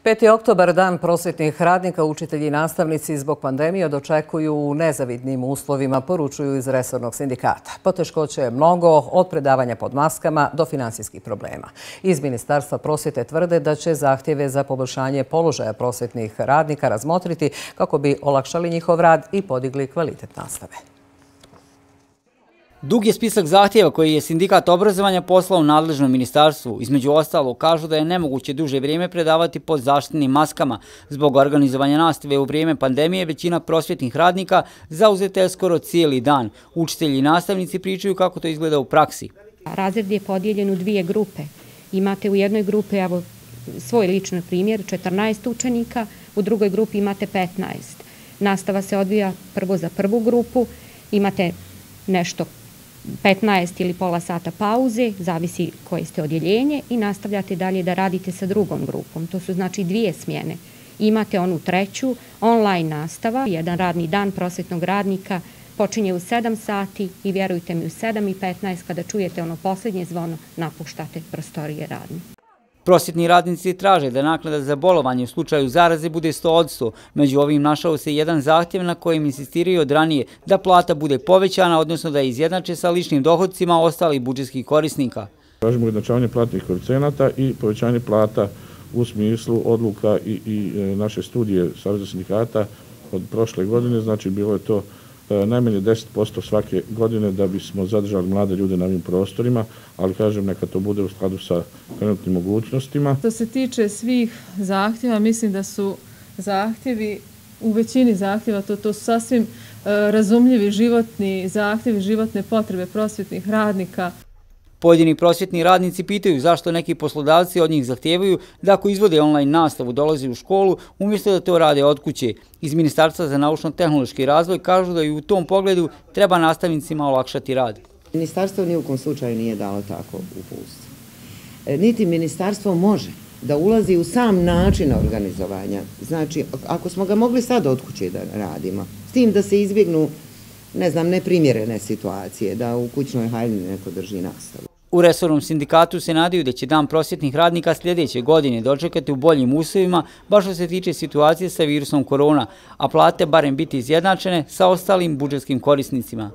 5. oktobar, dan prosvjetnih radnika, učitelji i nastavnici zbog pandemije dočekuju u nezavidnim uslovima, poručuju iz resornog sindikata. Poteškoće je mnogo, od predavanja pod maskama do finansijskih problema. Iz Ministarstva prosvjete tvrde da će zahtjeve za poboljšanje položaja prosvjetnih radnika razmotriti kako bi olakšali njihov rad i podigli kvalitet nastave. Dug je spisak zahtjeva koji je sindikat obrazovanja poslao nadležnom ministarstvu. Između ostalog kažu da je nemoguće duže vrijeme predavati pod zaštitnim maskama. Zbog organizovanja nastave u vrijeme pandemije većina prosvjetnih radnika zauzeta je skoro cijeli dan. Učitelji i nastavnici pričaju kako to izgleda u praksi. Razred je podijeljen u dvije grupe. Imate u jednoj grupi, evo svoj lični primjer, 14 učenika, u drugoj grupi imate 15. Nastava se odvija prvo za prvu grupu, imate nešto 15 ili pola sata pauze, zavisi koje ste odjeljenje, i nastavljate dalje da radite sa drugom grupom. To su znači dvije smjene. Imate onu treću, online nastava. Jedan radni dan prosvjetnog radnika počinje u 7 sati i vjerujte mi, u 7:15 kada čujete ono posljednje zvono, napuštate prostorije radne. Prosvjetni radnici traže da naknada za bolovanje u slučaju zaraze bude 100%. Među ovim našao se jedan zahtjev na kojem insistiraju od ranije da plata bude povećana, odnosno da je izjednače sa ličnim dohodcima ostalih budžetskih korisnika. Tražimo ujednačavanje platnih koeficijenata i povećanje plata u smislu odluka i naše studije Saveza sindikata od prošle godine. Znači bilo je to najmanje 10% svake godine da bismo zadržali mlade ljude na ovim prostorima, ali kažem neka to bude u skladu sa trenutnim mogućnostima. Što se tiče svih zahtjeva, mislim da su zahtjevi, u većini zahtjeva, to su sasvim razumljivi životni zahtjevi, životne potrebe prosvjetnih radnika. Pojedini prosvjetni radnici pitaju zašto neki poslodavci od njih zahtijevaju da ako izvode online nastavu dolaze u školu umjesto da to rade od kuće. Iz Ministarstva za naučno-tehnološki razvoj kažu da i u tom pogledu treba nastavnicima olakšati rad. Ministarstvo ni u kom slučaju nije dalo tako uputstvo. Niti ministarstvo može da ulazi u sam način organizovanja. Znači, ako smo ga mogli sad od kuće da radimo, s tim da se izbjegnu neprimjerene situacije, da u kućnoj haljini neko drži nastavu. U resornom sindikatu se nadaju da će dan prosvjetnih radnika sljedeće godine dočekati u boljim uslovima, baš što se tiče situacije sa virusom korona, a plate barem biti izjednačene sa ostalim budžetskim korisnicima.